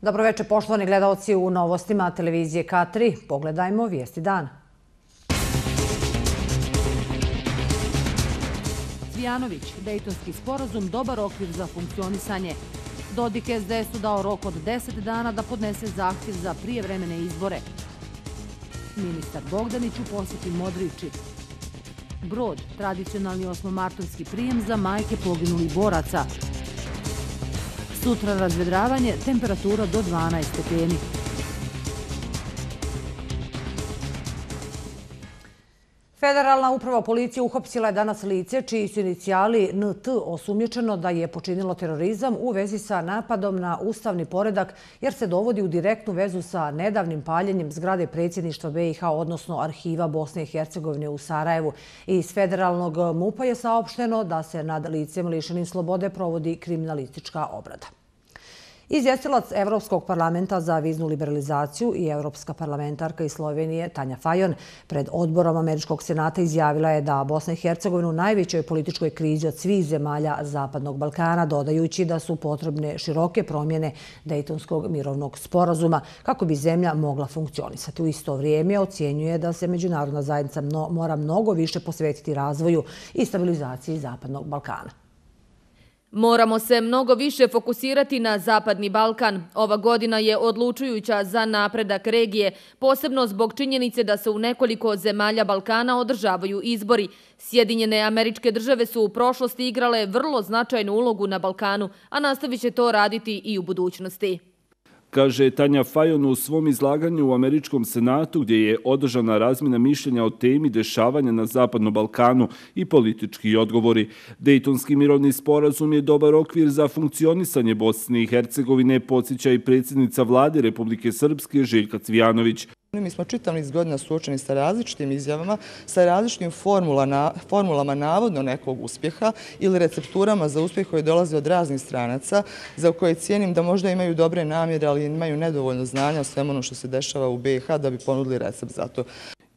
Dobroveče, poštovani gledaoci, u novostima televizije K3. Pogledajmo vijesti dana. Cvijanović, Dejtonski sporazum, dobar okvir za funkcionisanje. Dodik SDS-u dao rok od 10 dana da podnese zahtjev za prijevremene izbore. Ministar Bogdanić u posjeti Modriči. Brod, tradicionalni osmomartovski prijem za majke poginulih boraca. Sutra razvedravanje, temperatura do 12 stepeni. Federalna uprava policije uhapsila je danas lice čiji su inicijali NT osumnjičeno da je počinilo terorizam u vezi sa napadom na ustavni poredak jer se dovodi u direktnu vezu sa nedavnim paljenjem zgrade predsjedništva BiH, odnosno arhiva Bosne i Hercegovine u Sarajevu. Iz federalnog MUP-a je saopšteno da se nad licem lišenim slobode provodi kriminalistička obrada. Izvjestilac Evropskog parlamenta za viznu liberalizaciju i evropska parlamentarka iz Slovenije Tanja Fajon pred odborom Američkog senata izjavila je da Bosna i Hercegovina u najvećoj političkoj krizi od svih zemalja Zapadnog Balkana, dodajući da su potrebne široke promjene Dejtonskog mirovnog sporazuma kako bi zemlja mogla funkcionisati. U isto vrijeme ocjenjuje da se međunarodna zajednica mora mnogo više posvetiti razvoju i stabilizaciji Zapadnog Balkana. Moramo se mnogo više fokusirati na Zapadni Balkan. Ova godina je odlučujuća za napredak regije, posebno zbog činjenice da se u nekoliko zemalja Balkana održavaju izbori. Sjedinjene Američke Države su u prošlosti igrale vrlo značajnu ulogu na Balkanu, a nastavit će to raditi i u budućnosti. Kaže Tanja Fajon u svom izlaganju u Američkom senatu gdje je održana razmjena mišljenja o temi dešavanja na Zapadnom Balkanu i politički odgovori. Dejtonski mirovni sporazum je dobar okvir za funkcionisanje Bosne i Hercegovine, podsjeća i predsjednica vlade Republike Srpske Željka Cvijanović. Mi smo čitav niz godina suočeni sa različitim izjavama, sa različitim formulama navodno nekog uspjeha ili recepturama za uspjeh koji dolaze od raznih stranaca, za koje cijenim da možda imaju dobre namjere, ali imaju nedovoljno znanja o svemu ono što se dešava u BiH da bi ponudili recept za to.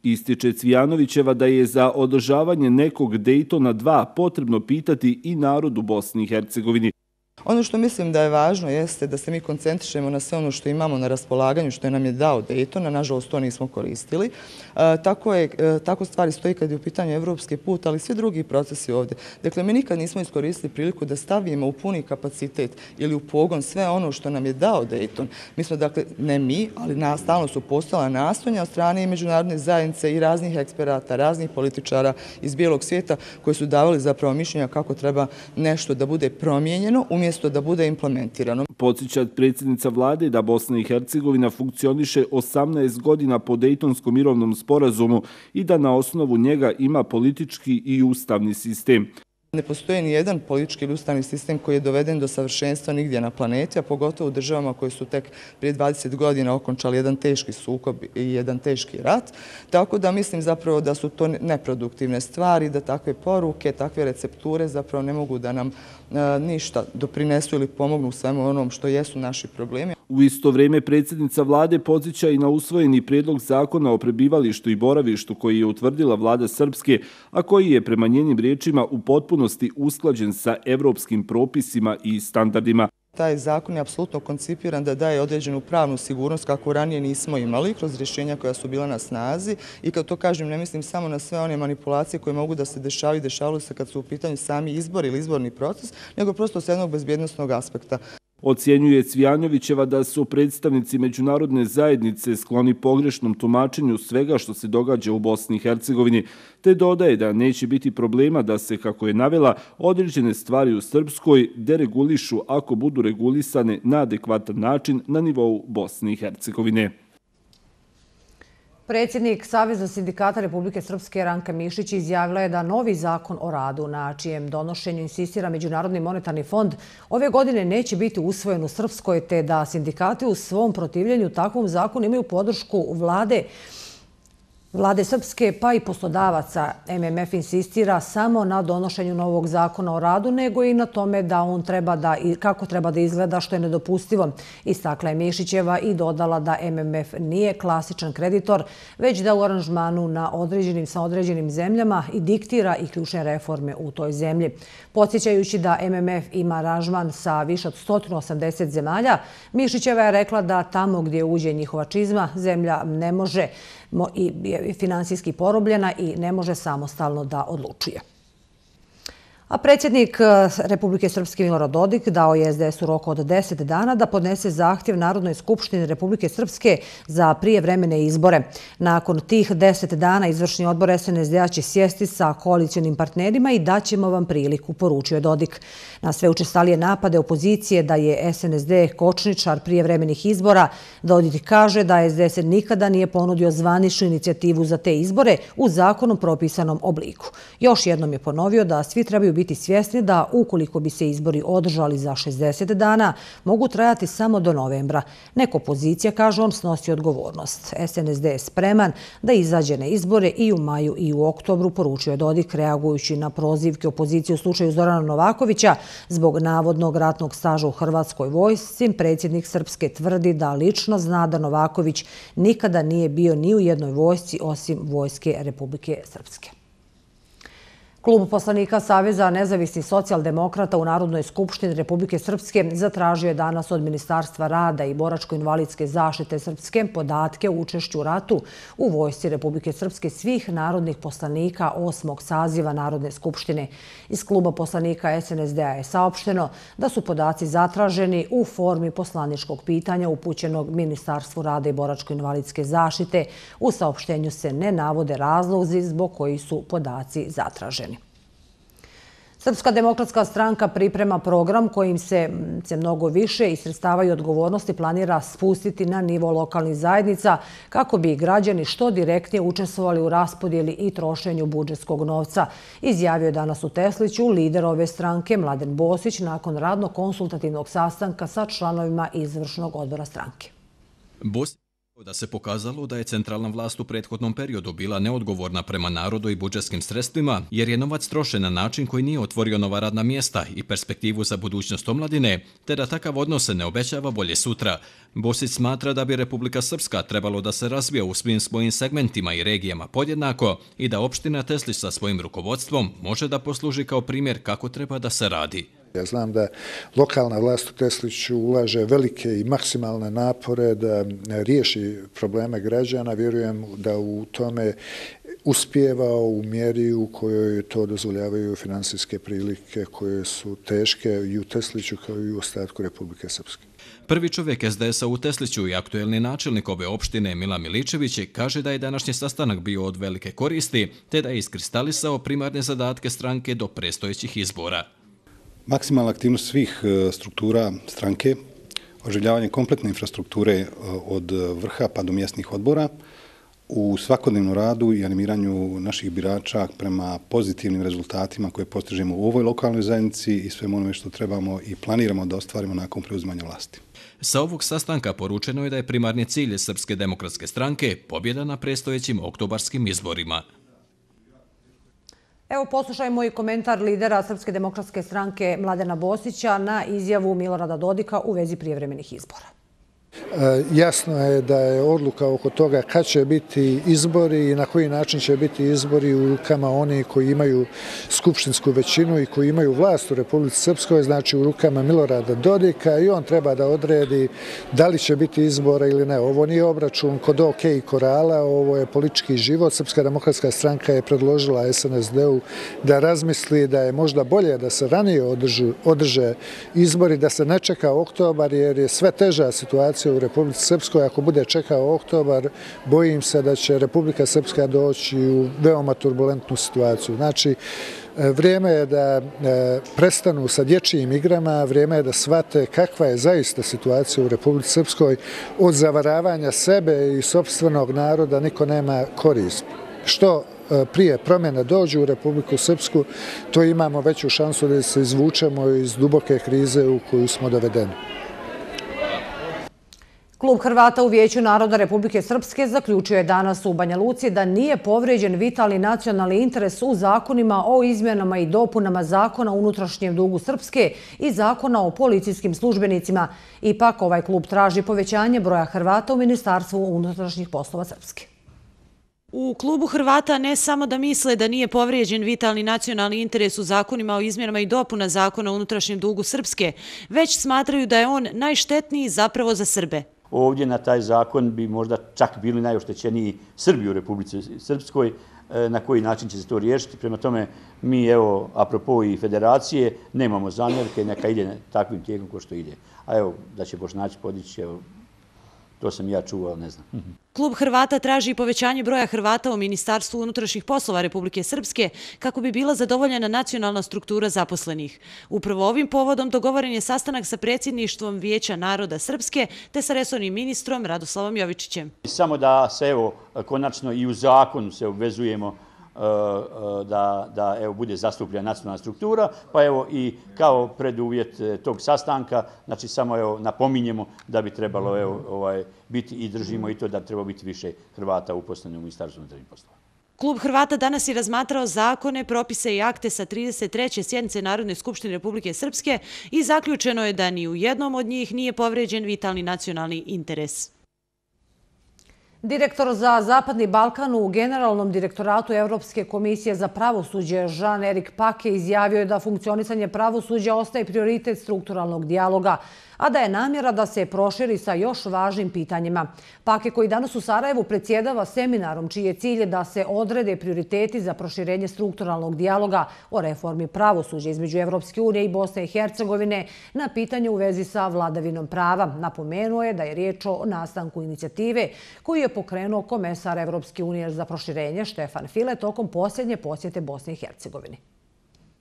Ističe Cvijanovićeva da je za održavanje nekog Dejtona 2 potrebno pitati i narod u Bosni i Hercegovini. Ono što mislim da je važno jeste da se mi koncentrišemo na sve ono što imamo na raspolaganju, što je nam je dao Dejton, a nažalost to nismo koristili. Tako stvari stoji kad je u pitanju evropski put, ali svi drugi procesi ovdje. Dakle, mi nikad nismo iskoristili priliku da stavimo u puni kapacitet ili u pogon sve ono što nam je dao Dejton. Mi smo, dakle, ne mi, ali stalno su postojala nastojanja od strane i međunarodne zajednice i raznih eksperata, raznih političara iz bijelog svijeta koji su davali zapravo mišljenja kako treba nešto da bude promijenjeno umjesto da bude implementirano. Podsjeća predsjednica vlade da Bosna i Hercegovina funkcioniše 18 godina po Dejtonskom mirovnom sporazumu i da na osnovu njega ima politički i ustavni sistem. Ne postoji ni jedan politički ili ustavni sistem koji je doveden do savršenstva nigdje na planeti, a pogotovo u državama koji su tek prije 20 godina okončali jedan teški sukob i jedan teški rat. Tako da mislim zapravo da su to neproduktivne stvari, da takve poruke, takve recepture zapravo ne mogu da nam ništa doprinesu ili pomognu svemu onom što jesu naši problemi. U isto vrijeme predsjednica vlade podsjeća i na usvojeni prijedlog zakona o prebivalištu i boravištu koji je utvrdila vlada Srpske, a koji je prema njenim riječima u potpunosti usklađen sa evropskim propisima i standardima. Taj zakon je apsolutno koncipiran da daje određenu pravnu sigurnost kako ranije nismo imali kroz rješenja koja su bila na snazi i kad to kažem ne mislim samo na sve one manipulacije koje mogu da se dešavaju i dešavaju se kad su u pitanju sami izbori ili izborni proces, nego prosto s jednog bezbjednosnog aspekta. Ocjenjuje Cvijanovićeva da su predstavnici međunarodne zajednice skloni pogrešnom tumačenju svega što se događa u Bosni i Hercegovini, te dodaje da neće biti problema da se, kako je navela, određene stvari u Srpskoj deregulišu ako budu regulisane na adekvatan način na nivou Bosne i Hercegovine. Predsjednik Saveza sindikata Republike Srpske Ranka Mišić izjavila je da novi zakon o radu, na čijem donošenju insistira Međunarodni monetarni fond, ove godine neće biti usvojen u Srpskoj, te da sindikati u svom protivljenju takvom zakonu imaju podršku vlade Vlade Srpske pa i poslodavaca MMF insistira samo na donošenju novog zakona o radu, nego i na tome da on kako treba da izgleda, što je nedopustivo. Istakla je Mišićeva i dodala da MMF nije klasičan kreditor, već da u aranžmanu sa određenim zemljama i diktira i ključne reforme u toj zemlji. Podsjećajući da MMF ima aranžman sa više od 180 zemalja, Mišićeva je rekla da tamo gdje uđe njihova čizma, zemlja ne može i finansijski porobljena i ne može samostalno da odlučuje. A predsjednik Republike Srpske Milorad Dodik dao je SDS-u rok od 10 dana da podnese zahtjev Narodnoj skupštini Republike Srpske za prijevremene izbore. Nakon tih 10 dana izvršni odbor SNSD-a će sjesti sa koalicionim partnerima i daćemo vam priliku, poručio je Dodik. Na sve učestalije napade opozicije da je SNSD kočničar prijevremenih izbora, Dodik kaže da SDS nikada nije ponudio zvaničnu inicijativu za te izbore u zakonom propisanom obliku. Još jednom je ponovio da svi trebaju biti svjesni da ukoliko bi se izbori održali za 60 dana, mogu trajati samo do novembra. Neko opozicija, kaže on, snosi odgovornost. SNSD je spreman da izađe na izbore i u maju i u oktobru, poručio je Dodik, reagujući na prozivke opozicije u slučaju Zorana Novakovića zbog navodnog ratnog staža u Hrvatskoj vojsci. Predsjednik Srpske tvrdi da lično zna da Novaković nikada nije bio ni u jednoj vojsci osim Vojske Republike Srpske. Klub poslanika Saveza nezavisnih socijaldemokrata u Narodnoj skupštini Republike Srpske zatražio je danas od Ministarstva rada i boračko-invalidske zaštite Srpske podatke o učešću u ratu u Vojsci Republike Srpske svih narodnih poslanika 8. saziva Narodne skupštine. Iz kluba poslanika SNSD-a je saopšteno da su podaci zatraženi u formi poslaničkog pitanja upućenog Ministarstvu rada i boračko-invalidske zaštite. U saopštenju se ne navode razlozi zbog koji su podaci zatraženi. Srpska demokratska stranka priprema program kojim se mnogo više i sredstava i odgovornosti planira spustiti na nivo lokalnih zajednica kako bi građani što direktnije učestvovali u raspodjeli i trošenju budžetskog novca, izjavio je danas u Tesliću lider ove stranke Mladen Bosić nakon radno-konsultativnog sastanka sa članovima izvršnog odbora stranke. Da se pokazalo da je centralna vlast u prethodnom periodu bila neodgovorna prema narodu i budžetskim sredstvima, jer je novac trošen na način koji nije otvorio nova radna mjesta i perspektivu za budućnost omladine, te da takav odnos se ne obećava bolje sutra. Bosić smatra da bi Republika Srpska trebalo da se razvija u svim svojim segmentima i regijama podjednako i da opština Teslić sa svojim rukovodstvom može da posluži kao primjer kako treba da se radi. Ja znam da lokalna vlast u Tesliću ulaže velike i maksimalne napore da riješi probleme građana. Vjerujem da u tome uspijeva u mjeri u kojoj to dozvoljavaju finansijske prilike koje su teške i u Tesliću kao i u ostatku Republike Srpske. Prvi čovjek SDS-a u Tesliću i aktuelni načelnik ove opštine Milan Miličević kaže da je današnji sastanak bio od velike koristi, te da je iskristalisao primarne zadatke stranke do predstojećih izbora. Maksimalna aktivnost svih struktura stranke, oživljavanje kompletne infrastrukture od vrha pa do mjesnih odbora, u svakodnevnom radu i animiranju naših birača prema pozitivnim rezultatima koje postižemo u ovoj lokalnoj zajednici i svemu onome što trebamo i planiramo da ostvarimo nakon preuzimanja vlasti. Sa ovog sastanka poručeno je da je primarni cilj Srpske demokratske stranke pobjeda na predstojećim oktobarskim izborima. Evo, poslušajmo i komentar lidera Srpske demokratske stranke Mladena Bosića na izjavu Milorada Dodika u vezi prijevremenih izbora. Jasno je da je odluka oko toga kad će biti izbori i na koji način će biti izbori u rukama oni koji imaju skupštinsku većinu i koji imaju vlast u Republici Srpskoj, znači u rukama Milorada Dodika, i on treba da odredi da li će biti izbora ili ne. Ovo nije obračun kod OK i Korala, ovo je politički život. Srpska demokratska stranka je predložila SNSD-u da razmisli da je možda bolje da se ranije održe izbori, da se ne čeka oktobar, jer je sve teža situacija u Republici Srpskoj. Ako bude čekao oktobar, bojim se da će Republika Srpska doći u veoma turbulentnu situaciju. Znači, vrijeme je da prestanu sa dječjim igrama, vrijeme je da shvate kakva je zaista situacija u Republici Srpskoj. Od zavaravanja sebe i sopstvenog naroda niko nema korist. Što prije promjene dođu u Republiku Srpsku, to imamo veću šansu da se izvučemo iz duboke krize u koju smo dovedeni. Klub Hrvata u Vijeću naroda Republike Srpske zaključio je danas u Banja Luci da nije povrijeđen vitalni nacionalni interes u zakonima o izmjenama i dopunama Zakona o unutrašnjem dugu Srpske i Zakona o policijskim službenicima. Ipak ovaj klub traži povećanje broja Hrvata u Ministarstvu unutrašnjih poslova Srpske. U klubu Hrvata ne samo da misle da nije povrijeđen vitalni nacionalni interes u zakonima o izmjenama i dopuna Zakona o unutrašnjem dugu Srpske, već smatraju da je on najštetniji zapravo za Srbe. Ovdje na taj zakon bi možda čak bili najoštećeniji Srbi u Republici Srpskoj, na koji način će se to riješiti. Prema tome, mi, evo, apropo i federacije, nemamo zamjerke, neka ide takvim tijekom ko što ide. A evo, da će Bošnjaci podići, evo, to sam ja čuo, ali ne znam. Klub Hrvata traži povećanje broja Hrvata u Ministarstvu unutrašnjih poslova Republike Srpske kako bi bila zadovoljena nacionalna struktura zaposlenih. Upravo ovim povodom dogovoren je sastanak sa predsjedništvom Vijeća naroda Srpske te sa resornim ministrom Radoslavom Jovičićem. Samo da se, evo, konačno i u zakonu se obvezujemo da evo bude zastupljena nacionalna struktura, pa evo i kao preduvjet tog sastanka, znači samo evo napominjemo da bi trebalo biti i držimo i to da treba biti više Hrvata uposlenih u Ministarstvu unutrašnjih poslova. Klub Hrvata danas je razmatrao zakone, propise i akte sa 33. sjednice Narodne skupštine Republike Srpske i zaključeno je da ni u jednom od njih nije povrijeđen vitalni nacionalni interes. Direktor za Zapadni Balkan u Generalnom direktoratu Evropske komisije za pravosuđe Jean-Éric Paquet izjavio je da funkcionisanje pravosuđa ostaje prioritet strukturalnog dijaloga, a da je namjera da se proširi sa još važnim pitanjima. Paquet, koji danas u Sarajevu predsjedava seminarom čiji je cilj da se odrede prioriteti za proširenje strukturalnog dijaloga o reformi pravosuđa između Evropske unije i Bosne i Hercegovine na pitanje u vezi sa vladavinom prava. Napomenuo je da je riječ o nastanku inicijative koju je pokrenuo komesar Evropske unije za proširenje Štefan File tokom posljednje posjete Bosne i Hercegovine.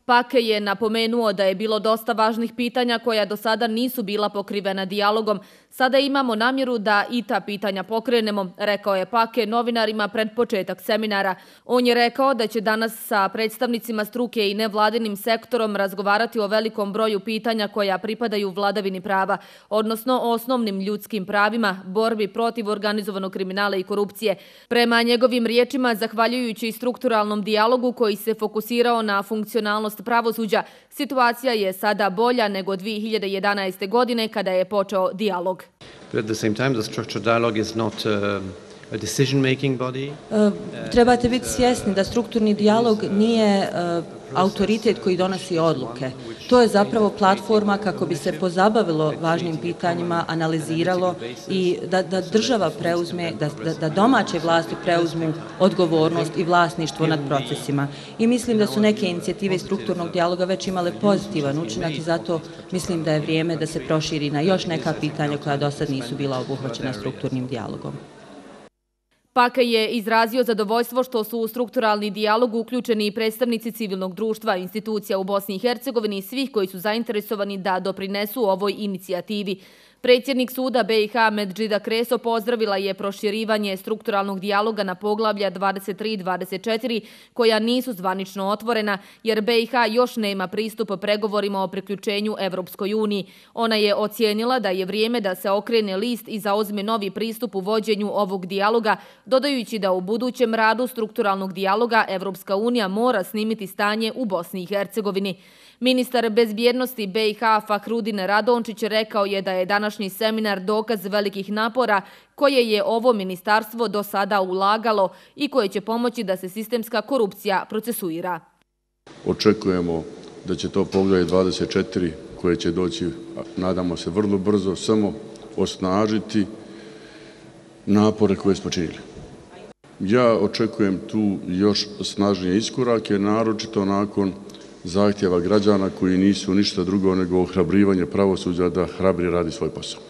Paquet je napomenuo da je bilo dosta važnih pitanja koja do sada nisu bila pokrivena dijalogom. Sada imamo namjeru da i ta pitanja pokrenemo, rekao je Paquet novinarima pred početak seminara. On je rekao da će danas sa predstavnicima struke i nevladinim sektorom razgovarati o velikom broju pitanja koja pripadaju vladavini prava, odnosno osnovnim ljudskim pravima, borbi protiv organizovanog kriminala i korupcije. Prema njegovim riječima, zahvaljujući strukturalnom dijalogu koji se fokusirao na funkcionalnost pravosuđa, situacija je sada bolja nego 2011. godine kada je počeo dijalog. At the same time, the structured dialogue is not a decision-making body. Trebate biti svjesni da strukturni dijalog nije autoritet koji donosi odluke. To je zapravo platforma kako bi se pozabavilo važnim pitanjima, analiziralo i da država preuzme, da domaće vlasti preuzmu odgovornost i vlasništvo nad procesima. I mislim da su neke inicijative strukturnog dijaloga već imale pozitivan učinak i zato mislim da je vrijeme da se proširi na još neka pitanja koja do sad nisu bila obuhvaćena strukturnim dijalogom. Paquet je izrazio zadovoljstvo što su u strukturalni dijalog uključeni i predstavnici civilnog društva, institucija u Bosni i Hercegovini i svih koji su zainteresovani da doprinesu ovoj inicijativi. Predsjednik suda BiH Medžida Kreso pozdravila je proširivanje strukturalnog dijaloga na poglavlja 23 i 24 koja nisu zvanično otvorena jer BiH još nema pristup pregovorima o priključenju Evropskoj uniji. Ona je ocijenila da je vrijeme da se okrene list i zauzme novi pristup u vođenju ovog dijaloga, dodajući da u budućem radu strukturalnog dijaloga Evropska unija mora snimiti stanje u Bosni i Hercegovini. Ministar bezbjednosti BiH Fahrudin Radončić rekao je da je današnji seminar dokaz velikih napora koje je ovo ministarstvo do sada ulagalo i koje će pomoći da se sistemska korupcija procesuira. Očekujemo da će to poglavlje 24 koje će doći, nadamo se vrlo brzo, samo osnažiti napore koje smo činili. Ja očekujem tu još snažnije iskorake, naročito nakon zahtjeva građana koji nisu ništa drugo nego ohrabrivanje pravosuđa da hrabri radi svoj posao.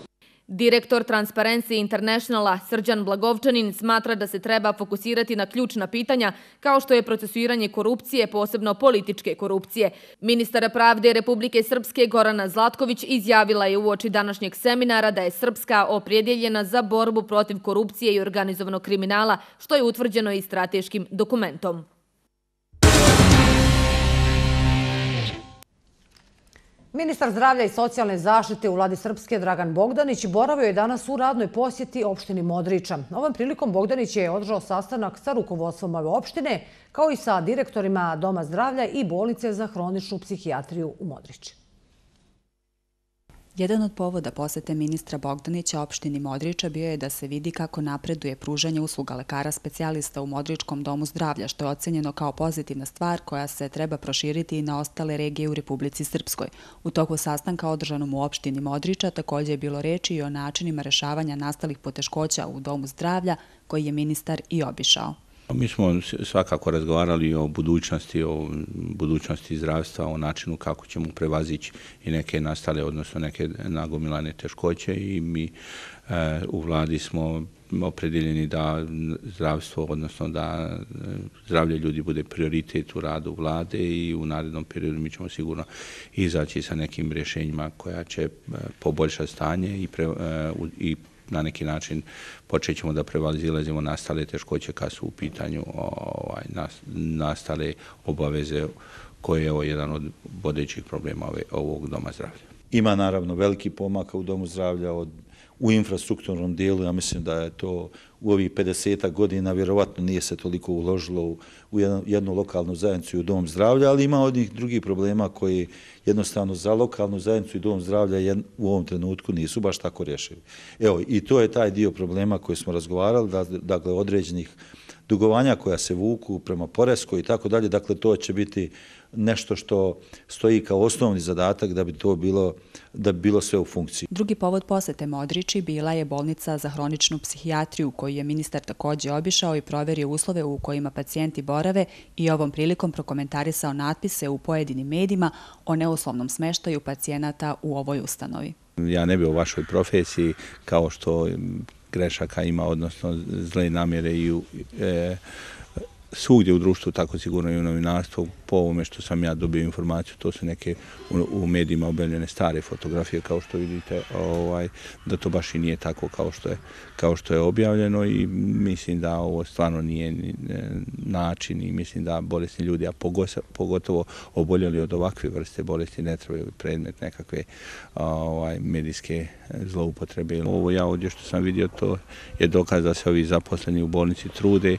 Direktor Transparency Internationala Srđan Blagovčanin smatra da se treba fokusirati na ključna pitanja kao što je procesuiranje korupcije, posebno političke korupcije. Ministar pravde Republike Srpske Gorana Zlatković izjavila je uoči današnjeg seminara da je Srpska opredjeljena za borbu protiv korupcije i organizovanog kriminala, što je utvrđeno i strateškim dokumentom. Ministar zdravlja i socijalne zaštite u vladi Srpske Dragan Bogdanić boravio je danas u radnoj posjeti opštini Modriča. Ovom prilikom Bogdanić je održao sastanak sa rukovodstvom ove opštine, kao i sa direktorima Doma zdravlja i bolnice za hroničnu psihijatriju u Modriči. Jedan od povoda posete ministra Bogdanića opštini Modriča bio je da se vidi kako napreduje pružanje usluga lekara specijalista u Modričkom domu zdravlja, što je ocenjeno kao pozitivna stvar koja se treba proširiti i na ostale regije u Republici Srpskoj. U toku sastanka održanom u opštini Modriča također je bilo reči i o načinima rešavanja nastalih poteškoća u domu zdravlja, koji je ministar i obišao. Mi smo svakako razgovarali o budućnosti zdravstva, o načinu kako ćemo prevazići i neke nastale, odnosno neke nagomilane teškoće, i mi u vladi smo opredeljeni da zdravstvo, odnosno da zdravlje ljudi bude prioritet u radu vlade, i u narednom periodu mi ćemo sigurno izaći sa nekim rješenjima koja će poboljšati stanje i na neki način počet ćemo da prevazilazimo nastale teškoće kad su u pitanju nastale obaveze, koje je jedan od vodećih problema ovog doma zdravlja. Ima naravno veliki pomaka u domu zdravlja u infrastrukturnom dijelu. Ja mislim da je to u ovih 50 godina vjerovatno nije se toliko uložilo u jednu lokalnu zajednicu i u dom zdravlja, ali ima onih drugih problema koji jednostavno za lokalnu zajednicu i dom zdravlja u ovom trenutku nisu baš tako rješivi. Evo, i to je taj dio problema koji smo razgovarali, dakle određenih dugovanja koja se vuku prema poreskoj i tako dalje, dakle to će biti nešto što stoji kao osnovni zadatak da bi to bilo sve u funkciji. Drugi povod posete Modriči bila je bolnica za hroničnu psihijatriju, koju je ministar također obišao i proverio uslove u kojima pacijenti borave, i ovom prilikom prokomentarisao natpise u pojedinim medijima o neuslovnom smeštaju pacijenata u ovoj ustanovi. Ja ne bi o vašoj profesiji, kao što grešaka ima, odnosno zle namjere i svugdje u društvu, tako sigurno i u novinarstvu. Po ovome što sam ja dobio informaciju, to su neke u medijima objavljene stare fotografije, kao što vidite, da to baš i nije tako kao što je objavljeno, i mislim da ovo stvarno nije način, i mislim da bolesni ljudi, a pogotovo oboljeli od ovakve vrste bolesti, ne trebaju predmet nekakve medijske zloupotrebe. Ovo ja ovdje što sam vidio, to je dokaz da se ovi zaposleni u bolnici trude,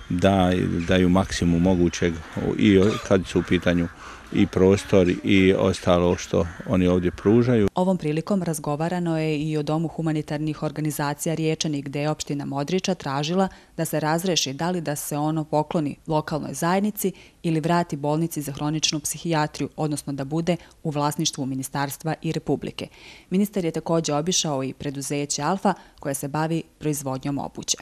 da daju maksimum mogućeg, i kad su u pitanju i prostor i ostalo što oni ovdje pružaju. Ovom prilikom razgovarano je i o Domu humanitarnih organizacija Riječani, gde je opština Modriča tražila da se razreši da li da se ono pokloni lokalnoj zajednici ili vrati bolnici za hroničnu psihijatriju, odnosno da bude u vlasništvu ministarstva i Republike. Ministar je također obišao i preduzeće Alfa, koje se bavi proizvodnjom obuće.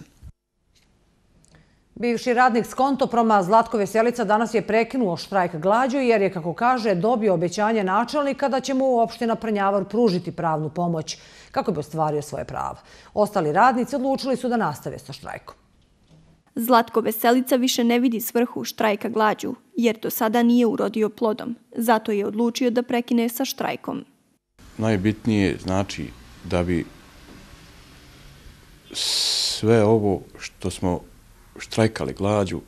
Bivši radnik Skontoproma Zlatko Veselica danas je prekinuo štrajk glađu jer je, kako kaže, dobio obećanje načelnika da će mu opština Prnjavar pružiti pravnu pomoć kako bi ostvario svoje pravo. Ostali radnici odlučili su da nastave sa štrajkom. Zlatko Veselica više ne vidi svrhu štrajka glađu jer do sada nije urodio plodom. Zato je odlučio da prekine sa štrajkom. Najbitnije znači da bi sve ovo što smo štrajkali glađu,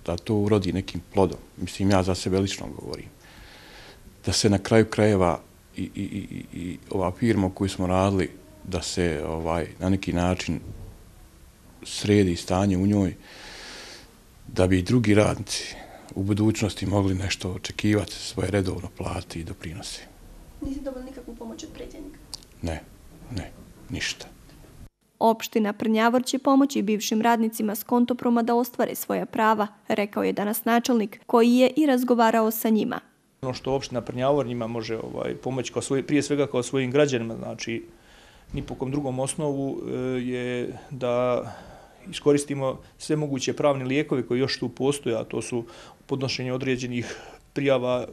da to urodi nekim plodom. Mislim, ja za sebe lično govorim. Da se na kraju krajeva i ova firma koju smo radili, da se na neki način sredi stanje u njoj, da bi i drugi radnici u budućnosti mogli nešto očekivati, svoje redovno plati i doprinose. Nisi dobili nikakvu pomoć od predsjednika? Ne, ništa. Opština Prnjavar će pomoći bivšim radnicima Skontoproma da ostvare svoja prava, rekao je danas načelnik, koji je i razgovarao sa njima. Ono što opština Prnjavar njima može pomoći prije svega kao svojim građanima, znači ni po kom drugom osnovu, je da iskoristimo sve moguće pravne lijekove koji još tu postoje, a to su podnošenje određenih prijava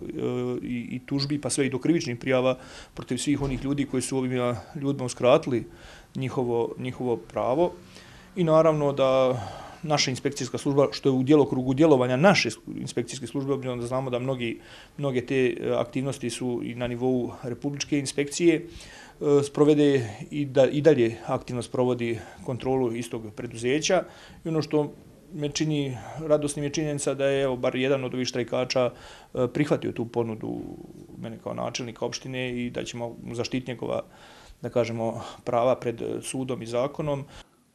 i tužbi, pa sve i do krivičnih prijava protiv svih onih ljudi koji su ovim ljudima uskratili njihovo pravo. I naravno da naša inspekcijska služba, što je u djelokrugu djelovanja naše inspekcijske službe, obzirom da znamo da mnoge te aktivnosti su i na nivou republičke inspekcije, sprovede i dalje aktivno sprovodi kontrolu istog preduzeća. I ono što me čini radosnim je činjenica da je bar jedan od ovih štrajkača prihvatio tu ponudu mene kao načelnika opštine i da ćemo zaštiti njegova, da kažemo, prava pred sudom i zakonom.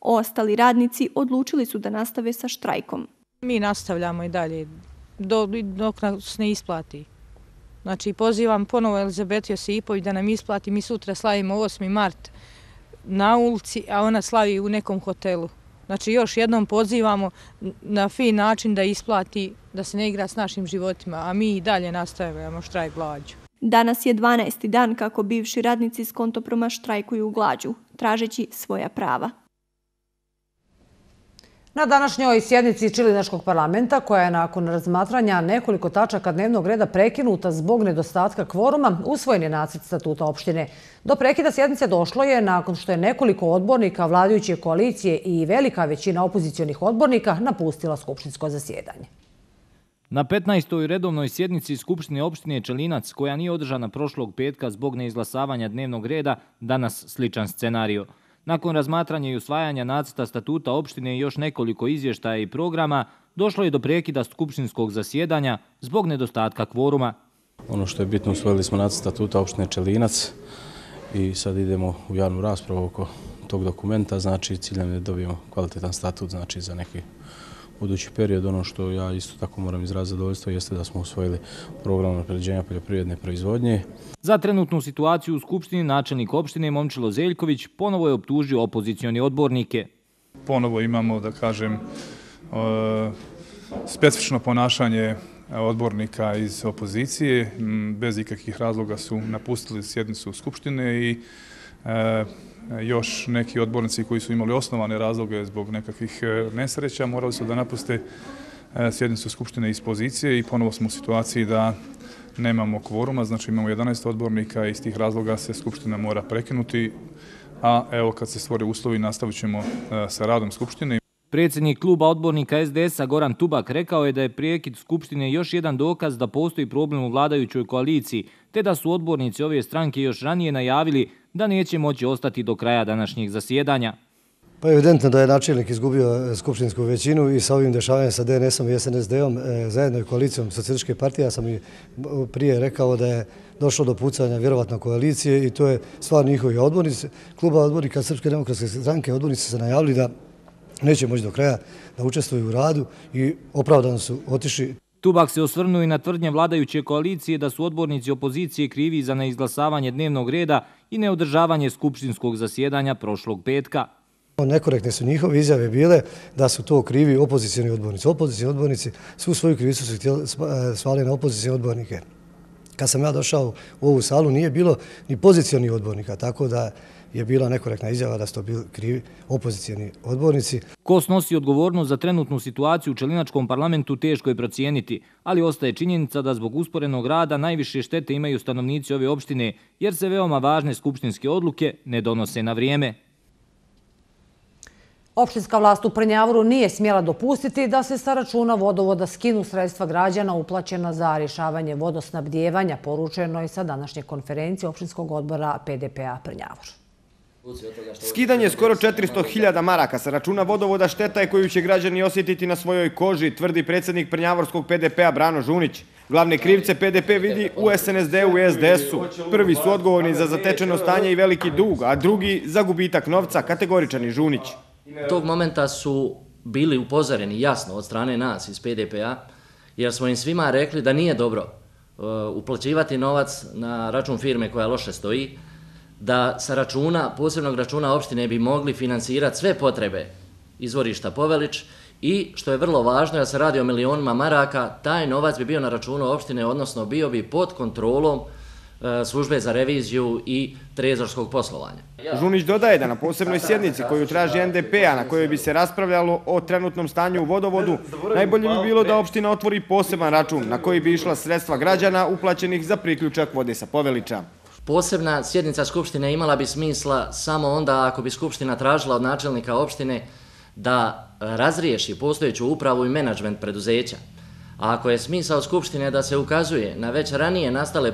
Ostali radnici odlučili su da nastave sa štrajkom. Mi nastavljamo i dalje dok nas ne isplati. Znači, pozivam ponovo Elizabetiju Josipović da nam isplati. Mi sutra slavimo 8. mart na ulici, a ona slavi u nekom hotelu. Znači, još jednom pozivamo na fin način da isplati, da se ne igra s našim životima, a mi i dalje nastavljamo štrajk glađu. Danas je 12. dan kako bivši radnici s Kontoproma štrajkuju glađu, tražeći svoja prava. Na današnjoj sjednici Čilinačkog parlamenta, koja je nakon razmatranja nekoliko tačaka dnevnog reda prekinuta zbog nedostatka kvoruma, usvojen je nacrt statuta opštine. Do prekida sjednice došlo je nakon što je nekoliko odbornika vladajuće koalicije i velika većina opozicionih odbornika napustila skupštinsko zasjedanje. Na 15. redovnoj sjednici Skupštine opštine Čelinac, koja nije održana prošlog petka zbog neizglasavanja dnevnog reda, danas sličan scenario. Nakon razmatranja i usvajanja nacrta statuta opštine i još nekoliko izvještaja i programa, došlo je do prekida skupštinskog zasjedanja zbog nedostatka kvoruma. Ono što je bitno, usvojili smo nacrt statuta opštine Čelinac i sad idemo u javnu raspravu oko tog dokumenta. Znači, ciljem je da dobijemo kvalitetan statut, znači za neki budući period. Ono što ja isto tako moram izraziti zadovoljstvo jeste da smo usvojili program unapređenja poljoprivredne proizvodnje. Za trenutnu situaciju u Skupštini načelnik opštine Momčilo Zeljković ponovo je optužio opozicioni odbornike. Ponovo imamo, da kažem, specifično ponašanje odbornika iz opozicije. Bez ikakvih razloga su napustili sjednicu Skupštine i još neki odbornici koji su imali osnovane razloge zbog nekakvih nesreća morali su da napuste sjednicu Skupštine iz pozicije i ponovo smo u situaciji da nemamo kvoruma, znači imamo 11 odbornika i iz tih razloga se Skupština mora prekinuti, a evo kad se stvore uslovi nastavit ćemo sa radom Skupštine. Predsjednik kluba odbornika SDS-a Goran Tubak rekao je da je prekid Skupštine još jedan dokaz da postoji problem u vladajućoj koaliciji, te da su odbornici ove stranke još ranije najavili da neće moći ostati do kraja današnjeg zasjedanja. Pa evidentno da je načelnik izgubio skupštinsku većinu i sa ovim dešavanjem sa DNS-om i SNSD-om zajedno i koalicijom Socijalističke partije. Ja sam i prije rekao da je došlo do pucanja vjerovatno koalicije i to je stvar njihovi odbornici. Kluba odbornika Srpske demokratske stranke odbornici se najavili da neće moći do kraja da učestvuju u radu i opravdano su otišli. Tubak se osvrnuo i na tvrdnje vladajuće koalicije da su odbornici opozicije krivi za neizglasavanje dnevnog reda i neodržavanje skupštinskog zasjedanja prošlog petka. Nekorektne su njihove izjave bile da su to krivi opozicijni odbornici. Opozicijni odbornici svu svoju krivicu su svali na opozicijne odbornike. Kad sam ja došao u ovu salu nije bilo ni pozicijni odbornika, tako da je bila nekorektna izjava da su to bili krivi opozicijni odbornici. Ko snosi odgovornost za trenutnu situaciju u Čelinačkom parlamentu teško je procijeniti, ali ostaje činjenica da zbog usporenog rada najviše štete imaju stanovnici ove opštine, jer se veoma važne skupštinske odluke ne donose na vrijeme. Opštinska vlast u Prnjavoru nije smjela dopustiti da se sa računa vodovoda skinu sredstva građana uplaćena za rješavanje vodosnabdijevanja, poručeno je sa današnje konferencije opštinskog odbora PDP-a Prnjavor. Skidanje skoro 400.000 maraka sa računa vodovoda šteta je koju će građani osjetiti na svojoj koži, tvrdi predsjednik Prnjavorskog PDP-a Brano Žunić. Glavne krivce PDP vidi u SNSD-u i SDS-u. Prvi su odgovorni za zatečeno stanje i veliki dug, a drugi za gubitak novca, kategoričan je Žunić. Tog momenta su bili upozoreni jasno od strane nas iz PDP-a, jer smo im svima rekli da nije dobro uplaćivati novac na račun firme koja loše stoji, da sa računa, posebnog računa opštine bi mogli finansirati sve potrebe izvorišta Povelić i, što je vrlo važno, da se radi o milionima maraka, taj novac bi bio na računu opštine, odnosno bio bi pod kontrolom službe za reviziju i trezorskog poslovanja. Žunić dodaje da na posebnoj sjednici koju traži NDP-a, na kojoj bi se raspravljalo o trenutnom stanju u vodovodu, najbolje bi bilo da opština otvori poseban račun na koji bi išla sredstva građana uplaćenih za priključak vode sa Povelića. Posebna sjednica Skupštine imala bi smisla samo onda ako bi Skupština tražila od načelnika opštine da razriješi postojeću upravu i menadžment preduzeća. A ako je smisao Skupštine da se ukazuje na već ranije nastale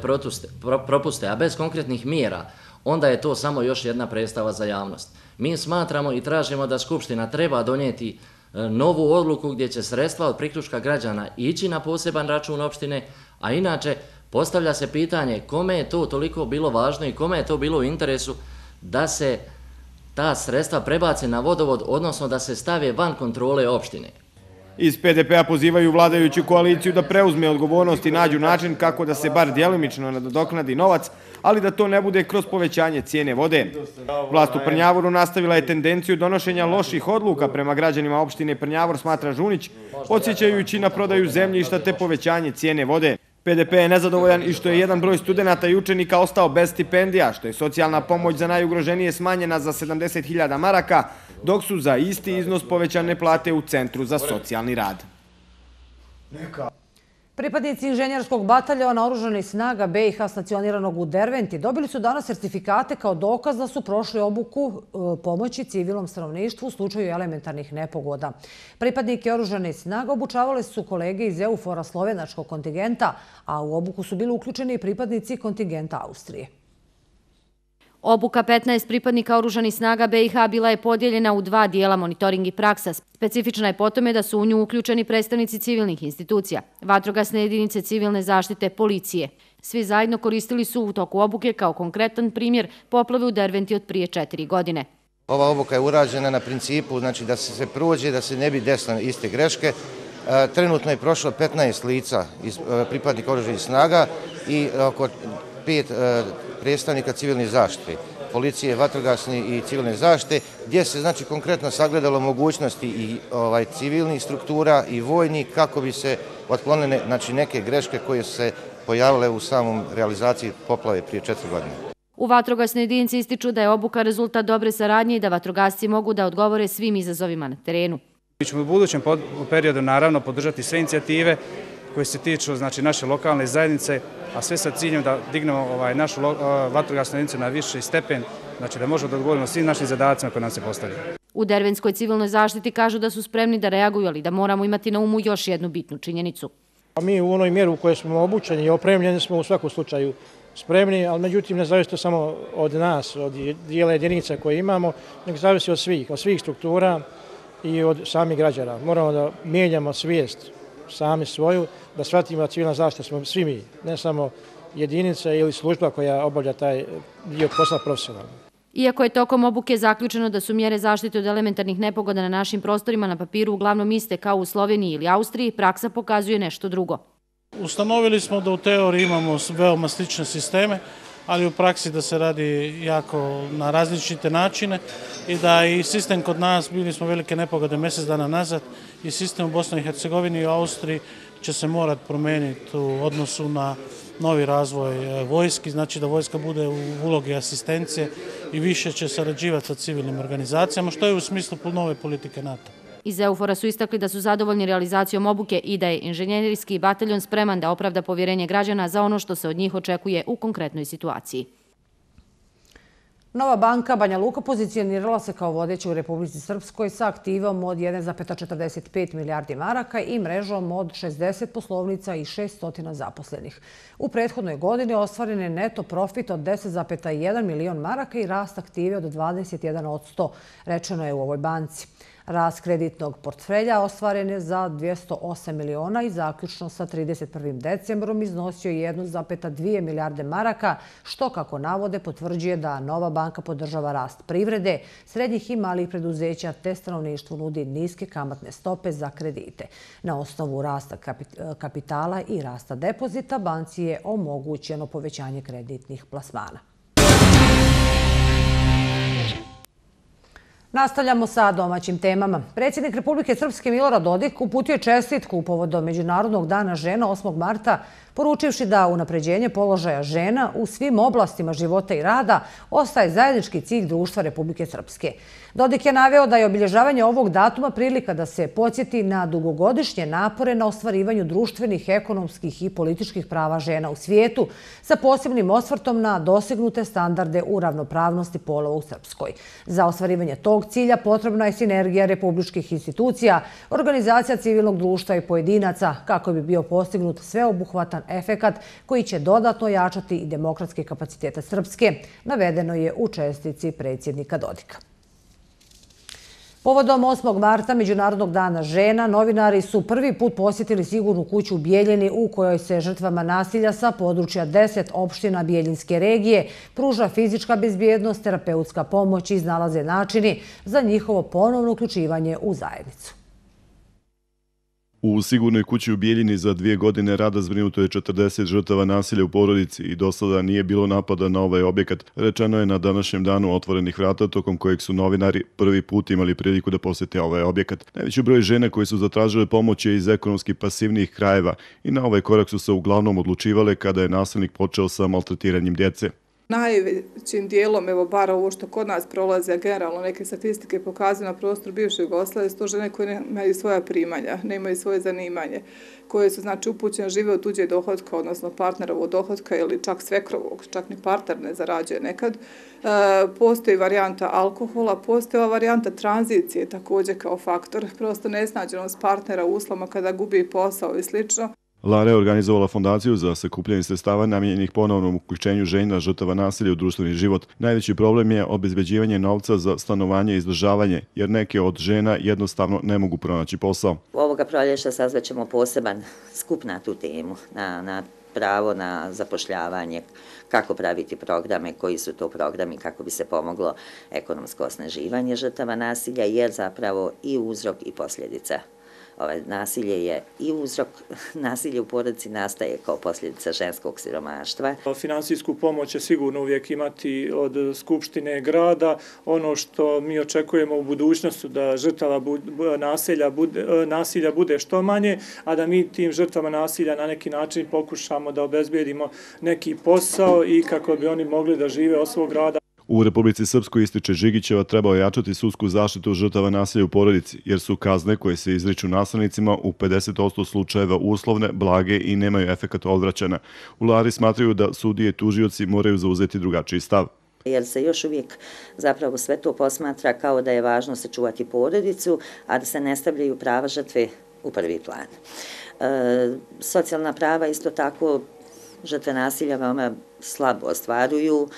propuste, a bez konkretnih mjera, onda je to samo još jedna predstava za javnost. Mi smatramo i tražimo da Skupština treba donijeti novu odluku gdje će sredstva od priključka građana ići na poseban račun opštine, a inače Postavlja se pitanje kome je to toliko bilo važno i kome je to bilo u interesu da se ta sredstva prebace na vodovod, odnosno da se stave van kontrole opštine. Iz PDP-a pozivaju vladajuću koaliciju da preuzme odgovornost i nađu način kako da se bar djelimično nadoknadi novac, ali da to ne bude kroz povećanje cijene vode. Vlast u Prnjavoru nastavila je tendenciju donošenja loših odluka prema građanima opštine Prnjavor, smatra Žunić, podsjećajući na prodaju zemljišta te povećanje cijene vode. PDP je nezadovoljan i što je jedan broj studenta i učenika ostao bez stipendija, što je socijalna pomoć za najugroženije smanjena za 70.000 maraka, dok su za isti iznos povećane plate u Centru za socijalni rad. Pripadnici inženjerskog bataljona oružanih snaga BiH stacioniranog u Derventi dobili su danas sertifikate kao dokaz da su prošli obuku pomoći civilnom stanovništvu u slučaju elementarnih nepogoda. Pripadnike oružanih snaga obučavali su kolege iz EUFOR-a slovenačkog kontingenta, a u obuku su bili uključeni i pripadnici kontingenta Austrije. Obuka 15 pripadnika oružanih snaga BiH bila je podijeljena u 2 dijela, monitoring i praksa. Specifična je po tome da su u nju uključeni predstavnici civilnih institucija, vatrogasne jedinice civilne zaštite, policije. Svi zajedno koristili su u toku obuke kao konkretan primjer poplave u Derventi od prije 4 godine. Ova obuka je urađena na principu da se prođe, da se ne bi desile iste greške. Trenutno je prošlo 15 lica iz pripadnika oružanih snaga i oko 5 predstavnika civilne zaštite, policije, vatrogasne i civilne zaštite, gdje se konkretno sagledalo mogućnosti i civilnih struktura i vojnih kako bi se otklonile neke greške koje su se pojavile u samom realizaciji poplave prije 4 godine. U vatrogasnoj jedinici ističu da je obuka rezultat dobre saradnje i da vatrogasci mogu da odgovore svim izazovima na terenu. Mi ćemo u budućem periodu naravno podržati sve inicijative koje se tiču naše lokalne zajednice, a sve sa ciljem da dignemo našu vatrogasnu jedinicu na viši stepen, da možemo da odgovorimo svim našim zadacima koje nam se postavljaju. U Dervenskoj civilnoj zaštiti kažu da su spremni da reaguju, ali da moramo imati na umu još jednu bitnu činjenicu. Mi u onoj mjeri u kojoj smo obučeni i opremljeni smo u svakom slučaju spremni, ali međutim ne zavisi to samo od nas, od dijela jedinica koje imamo, nego zavisi od svih struktura i od samih građana. Moramo da mijenjamo svijest sami svoju, da shvatimo da civilna zaštita smo svi mi, ne samo jedinica ili služba koja obavlja taj dio posla profesionalno. Iako je tokom obuke zaključeno da su mjere zaštite od elementarnih nepogoda na našim prostorima na papiru uglavnom iste kao u Sloveniji ili Austriji, praksa pokazuje nešto drugo. Ustanovili smo da u teoriji imamo veoma slične sisteme, ali u praksi da se radi jako na različite načine i da i sistem kod nas, bili smo velike nepogode mjesec dana nazad, i sistem u Bosni i Hercegovini i u Austriji će se morati promijeniti u odnosu na novi razvoj vojski, znači da vojska bude u ulogi asistencije i više će sarađivati sa civilnim organizacijama, što je u smislu nove politike NATO. Iz EUFOR-a su istakli da su zadovoljni realizacijom obuke i da je inženjerijski bataljon spreman da opravda povjerenje građana za ono što se od njih očekuje u konkretnoj situaciji. Nova banka Banja Luka pozicionirala se kao vodeća u Republici Srpskoj sa aktivom od 1,45 milijardi maraka i mrežom od 60 poslovnica i 600 zaposlenih. U prethodnoj godini ostvaren je neto profit od 10,1 milion maraka i rast aktive od 21%, rečeno je u ovoj banci. Rast kreditnog portfelja ostvaren je za 208 miliona i zaključno sa 31. decembrom iznosio 1,2 milijarde maraka, što, kako navode, potvrđuje da Nova banka podržava rast privrede, srednjih i malih preduzeća te stanovništvu nudi niske kamatne stope za kredite. Na osnovu rasta kapitala i rasta depozita banci je omogućeno povećanje kreditnih plasmana. Nastavljamo sa domaćim temama. Predsjednik Republike Srpske Milorad Dodik uputio je čestitku povodom Međunarodnog dana žena 8. marta, poručivši da unapređenje položaja žena u svim oblastima života i rada ostaje zajednički cilj društva Republike Srpske. Dodik je naveo da je obilježavanje ovog datuma prilika da se podsjeti na dugogodišnje napore na ostvarivanju društvenih, ekonomskih i političkih prava žena u svijetu, sa posebnim osvrtom na dosegnute standarde u ravnopravnosti polova u Srpskoj. Za ostvarivanje tog cilja potrebna je sinergija republičkih institucija, organizacija civilnog društva i pojedinaca, kako bi bio postignut sveobuhvatan efekat koji će dodatno jačati i demokratske kapacitete Srpske, navedeno je u čestitci predsjednika Dodika. Povodom 8. marta, Međunarodnog dana žena, novinari su prvi put posjetili sigurnu kuću u Bijeljini u kojoj se žrtvama nasilja sa područja 10 opština Bijeljinske regije pruža fizička bezbjednost, terapeutska pomoć i iznalaze načini za njihovo ponovno uključivanje u zajednicu. U sigurnoj kući u Bijeljini za 2 godine rada zbrinuto je 40 žrtava nasilja u porodici i do sada nije bilo napada na ovaj objekat. Rečeno je na današnjem danu otvorenih vrata, tokom kojeg su novinari prvi put imali priliku da posjete ovaj objekat. Najveći broj žena koji su zatražile pomoć je iz ekonomski pasivnijih krajeva i na ovaj korak su se uglavnom odlučivale kada je nasilnik počeo sa maltretiranjem djece. Najvećim dijelom, evo bar ovo što kod nas prolazi, a generalno neke statistike pokazuju na prostoru bivše Jugoslavije, su to žene koje nemaju svoja primanja, nemaju svoje zanimanje, koje su znači upućene, žive od tuđe dohotka, odnosno partnerovog dohotka ili čak svekrovog, čak ni partner ne zarađuje nekad. Postoji varijanta alkohola, postoji varijanta tranzicije također kao faktor, prosto nesnađenost partnera u uslovima kada gubi posao i slično. Lara je organizovala fondaciju za sakupljanje sredstava namijenjenih ponovnom uključenju žena žrtava nasilja u društveni život. Najveći problem je obezbeđivanje novca za stanovanje i izdržavanje, jer neke od žena jednostavno ne mogu pronaći posao. Ovoga proljeća sazvaćemo poseban skup na tu temu, na pravo na zapošljavanje, kako praviti programe, koji su to programi, kako bi se pomoglo ekonomsko osnaživanje žrtava nasilja, jer zapravo i uzrok i posljedica. Nasilje je i uzrok, nasilje u porodici nastaje kao posljedica ženskog siromaštva. Finansijsku pomoć će sigurno uvijek imati od Skupštine grada. Ono što mi očekujemo u budućnosti da žrtava nasilja bude što manje, a da mi tim žrtvama nasilja na neki način pokušamo da obezbedimo neki posao i kako bi oni mogli da žive od svog rada. U Republici Srpskoj, ističe Žigićeva, treba ojačati sudsku zaštitu žrtava nasilja u porodici, jer su kazne koje se izriču nasilnicima u 50% slučajeva uslovne, blage i nemaju efekat odvraćanja. U Lari smatraju da sudije i tužioci moraju zauzeti drugačiji stav. Jer se još uvijek zapravo sve to posmatra kao da je važno sačuvati porodicu, a da se ne stavljaju prava žrtve u prvi plan. Socijalna prava isto tako žrtve nasilja veoma slabo ostvaruju,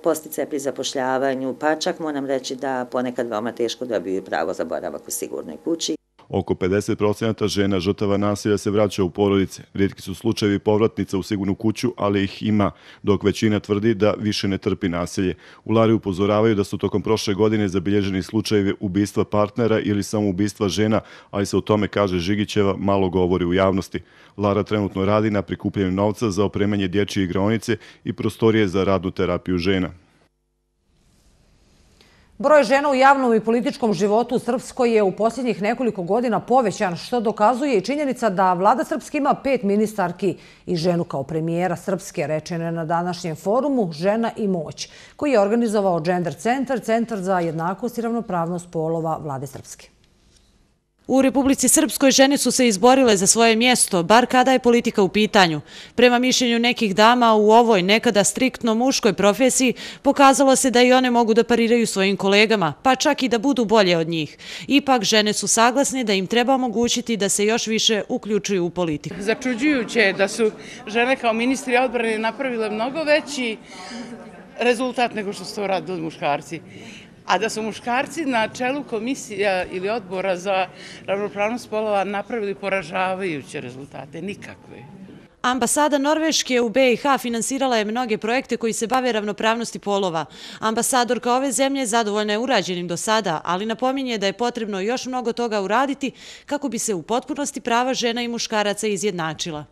posticaje pri zapošljavanju, pa čak moram reći da ponekad veoma teško dobiju pravo za boravak u sigurnoj kući. Oko 50% žena žrtava nasilja se vraća u porodice. Rijetki su slučajevi povratnica u sigurnu kuću, ali ih ima, dok većina tvrdi da više ne trpi nasilje. U Lari upozoravaju da su tokom prošle godine zabilježeni slučajevi ubistva partnera ili samoubistva žena, ali se o tome, kaže Žigićeva, malo govori u javnosti. Lara trenutno radi na prikupljanju novca za opremanje dječje igraonice i prostorije za radnu terapiju žena. Broj žena u javnom i političkom životu u Srpskoj je u posljednjih nekoliko godina povećan, što dokazuje i činjenica da vlada Srpske ima 5 ministarki i ženu kao premijera Srpske, rečeno je na današnjem forumu Žena i moć, koji je organizovao Gender Centar, Centar za jednakost i ravnopravnost polova vlade Srpske. U Republici Srpskoj žene su se izborile za svoje mjesto, bar kada je politika u pitanju. Prema mišljenju nekih dama u ovoj nekada striktno muškoj profesiji pokazalo se da i one mogu da pariraju svojim kolegama, pa čak i da budu bolje od njih. Ipak žene su saglasne da im treba omogućiti da se još više uključuju u politiku. Začuđujuće je da su žene kao ministri odbrane napravile mnogo veći rezultat nego što su to radili muškarci. A da su muškarci na čelu komisija ili odbora za ravnopravnost polova napravili poražavajuće rezultate, nikakve. Ambasada Norveške u BiH finansirala je mnoge projekte koji se bave ravnopravnosti polova. Ambasadorka ove zemlje zadovoljna je urađenim do sada, ali napominje da je potrebno još mnogo toga uraditi kako bi se u potpunosti prava žena i muškaraca izjednačila.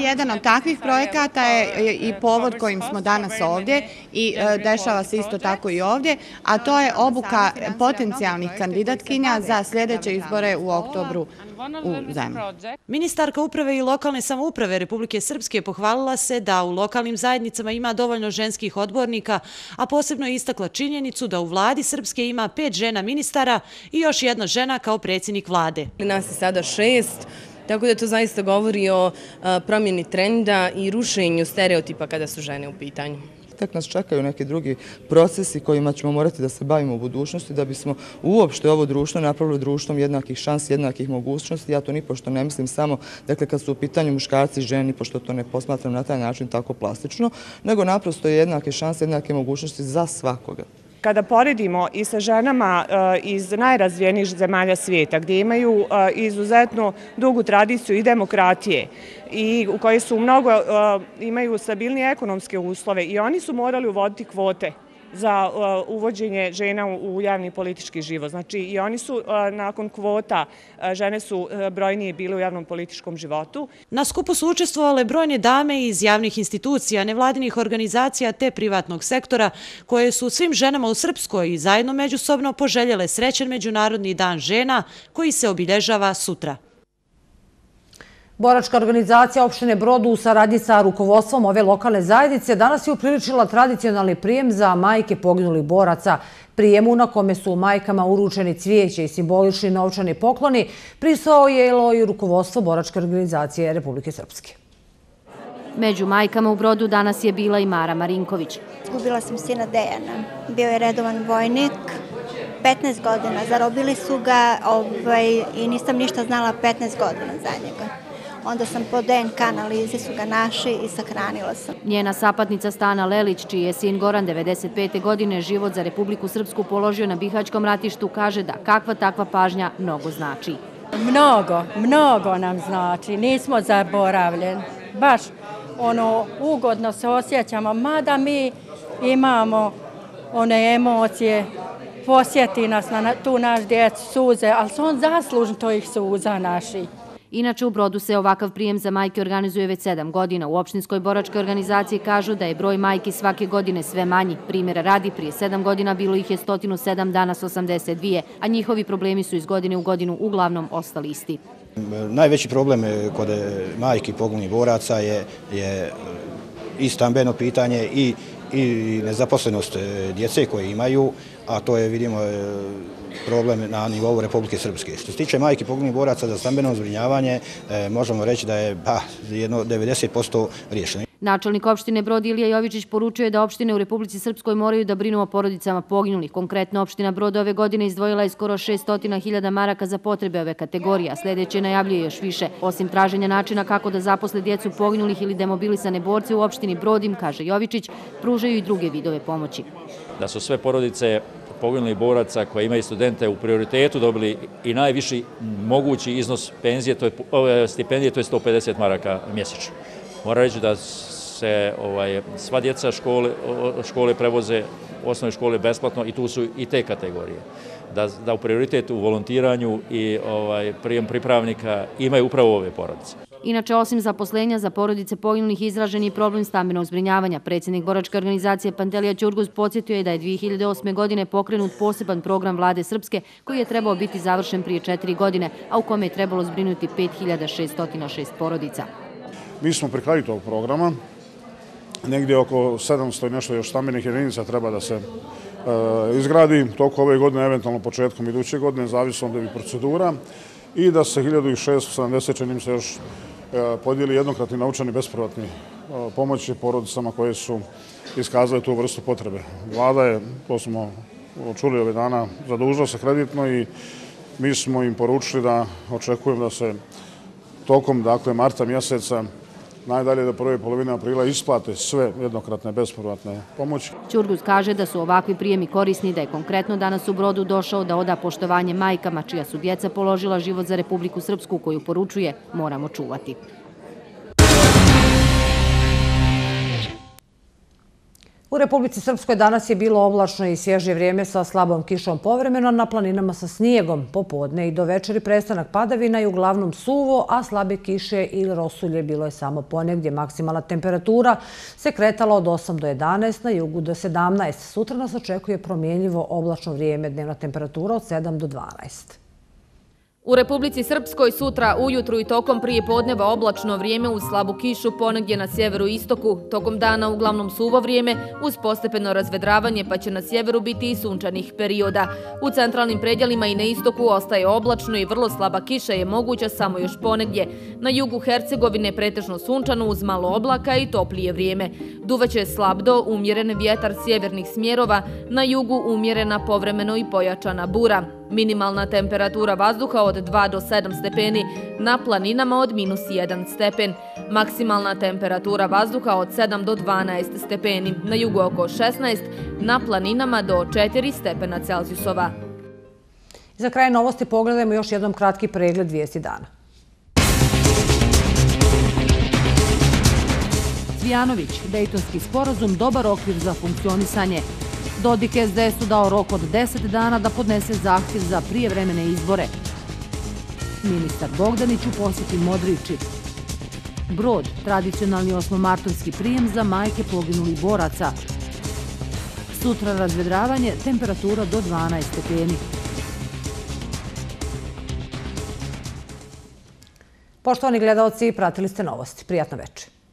Jedan od takvih projekata je i povod kojim smo danas ovdje i dešava se isto tako i ovdje, a to je obuka potencijalnih kandidatkinja za sljedeće izbore u oktobru u zemlji. Ministarka uprave i lokalne samouprave Republike Srpske pohvalila se da u lokalnim zajednicama ima dovoljno ženskih odbornika, a posebno je istakla činjenicu da u vladi Srpske ima 5 žena ministara i još jedna žena kao predsjednik vlade. Nas je sada 6. Tako da to zaista govori o promjeni trenda i rušenju stereotipa kada su žene u pitanju. Tek nas čekaju neki drugi procesi kojima ćemo morati da se bavimo u budućnosti da bismo uopšte ovo društvo napravili društvom jednakih šansi, jednakih mogućnosti. Ja to nipošto ne mislim samo, dakle, kad su u pitanju muškarci i ženi, pošto to ne posmatram na taj način tako plastično, nego naprosto jednake šanse, jednake mogućnosti za svakoga. kada poredimo i sa ženama iz najrazvijenijih zemalja svijeta, gdje imaju izuzetno dugu tradiciju i demokratije i u kojoj su imaju stabilnije ekonomske uslove, i oni su morali uvoditi kvote za uvođenje žena u javni politički život. Znači i oni su nakon kvota, žene su brojnije bile u javnom političkom životu. Na skupu su učestvovale brojne dame iz javnih institucija, nevladinih organizacija te privatnog sektora, koje su svim ženama u Srpskoj i zajedno međusobno poželjele srećan Međunarodni dan žena koji se obilježava sutra. Boračka organizacija opštine Brod u saradnji sa rukovodstvom ove lokalne zajednice danas je upriličila tradicionalni prijem za majke poginulih boraca. Prijemu na kome su majkama uručeni cvijeće i simbolični novčani pokloni prisustvovalo i rukovodstvo Boračke organizacije Republike Srpske. Među majkama u Brodu danas je bila i Mara Marinković. Izgubila sam sina Dejana. Bio je redovan vojnik, 15 godina. Zarobili su ga i nisam ništa znala 15 godina za njega. Onda sam po DNK analizi su ga našli i sahranila sam. Njena sapatnica Stana Lelić, čiji je sin Goran 95. godine život za Republiku Srpsku položio na Bihaćkom ratištu, kaže da kakva takva pažnja mnogo znači. Mnogo nam znači. Nismo zaboravljeni. Baš ugodno se osjećamo, mada mi imamo one emocije, posjeti nas na tu naš djecu suze, ali su on zaslužni tojih suza naših. Inače, u Brodu se ovakav prijem za majke organizuje već 7 godina. U opštinskoj boračkoj organizaciji kažu da je broj majki svake godine sve manji. Primjera radi, prije 7 godina bilo ih je 107, danas 82, a njihovi problemi su iz godine u godinu uglavnom ostali isti. Najveći problem kod majki poginulih boraca je i stambeno pitanje i nezaposlenost djece koje imaju, a to je, vidimo, problem na nivou Republike Srpske. Što se tiče majki poginulih boraca, za stambeno zbrinjavanje možemo reći da je jedno 90% riješeno. Načelnik opštine Brod Ilija Jovičić poručuje da opštine u Republici Srpskoj moraju da brinu o porodicama poginulih. Konkretno, opština Brod ove godine izdvojila je skoro 600.000 maraka za potrebe ove kategorije, a sljedeće najavljuje još više. Osim traženja načina kako da zaposle djecu poginulih ili demobilisane borce u opštini Brod im, kaže Jovičić, pružaju i druge vidove pomoći. Da su sve porodice poginulih boraca koje imaju studente u prioritetu dobili i najviši mogući iznos stipendije, to je 150 maraka mjesečno. Moram reći da se sva djeca škole prevoze, osnovne škole besplatno, i tu su i te kategorije. Da u prioritetu u volontiranju i prijem pripravnika imaju upravo ove porodice. Inače, osim zaposlenja za porodice poginulih, izražen je problem stambenog zbrinjavanja. Predsjednik Boračke organizacije Pantelija Ćurguz podsjetio je da je 2008. godine pokrenut poseban program Vlade Srpske koji je trebao biti završen prije 4 godine, a u kome je trebalo zbrinuti 5606 porodica. Mi smo pri kraju tog programa. Negdje oko 700 i nešto još stambenih jedinica treba da se izgradi toko ove godine, eventualno početkom iduće godine, zavisno od ovih procedura, i da se 1670, čini mi se, još podijeli jednokratni novčani bespovratni pomoći porodicama koje su iskazale tu vrstu potrebe. Vlada je, to smo čuli ove dana, zadužila se kreditno i mi smo im poručili da očekujem da se tokom marta mjeseca, najdalje do prve polovine aprila, isplate sve jednokratne bespovratne pomoći. Ćurguz kaže da su ovakvi prijemi korisni, da je konkretno danas u Brodu došao da oda poštovanje majkama čija su djeca položila život za Republiku Srpsku, koju poručuje moramo čuvati. U Republici Srpskoj danas je bilo oblačno i svježe vrijeme sa slabom kišom povremeno, na planinama sa snijegom. Popodne i do večeri prestanak padavina i uglavnom suvo, a slabe kiše ili rosulje bilo je samo ponegdje. Maksimalna temperatura se kretala od 8 do 11, na jugu do 17. Sutra nas očekuje promjenljivo oblačno vrijeme, dnevna temperatura od 7 do 12. U Republici Srpskoj sutra ujutru i tokom prije podneva oblačno vrijeme uz slabu kišu ponegdje na sjeveru i istoku. Tokom dana uglavnom suvo vrijeme uz postepeno razvedravanje, pa će na sjeveru biti i sunčanih perioda. U centralnim predjelima i na istoku ostaje oblačno i vrlo slaba kiša je moguća samo još ponegdje. Na jugu Hercegovine pretežno sunčano uz malo oblaka i toplije vrijeme. Duvaće slab do umjeren vjetar sjevernih smjerova, na jugu umjerena povremeno i pojačana bura. Minimalna temperatura vazduha od 2 do 7 stepeni, na planinama od -1 stepen. Maksimalna temperatura vazduha od 7 do 12 stepeni, na jugu oko 16, na planinama do 4 stepena Celzijusova. Za kraj novosti pogledajmo još jednom kratki pregled vijesti dana. Cvijanović, Dejtonski sporazum, dobar okvir za funkcionisanje. Dodik SDS-u dao rok od 10 dana da podnese zahtjev za prijevremene izbore. Ministar Bogdanić u posjeti Modriči. Brod, tradicionalni osmomartovski prijem za majke poginulih boraca. Sutra razvedravanje, temperatura do 12 stepeni. Poštovani gledaoci, pratili ste novosti. Prijatno večer.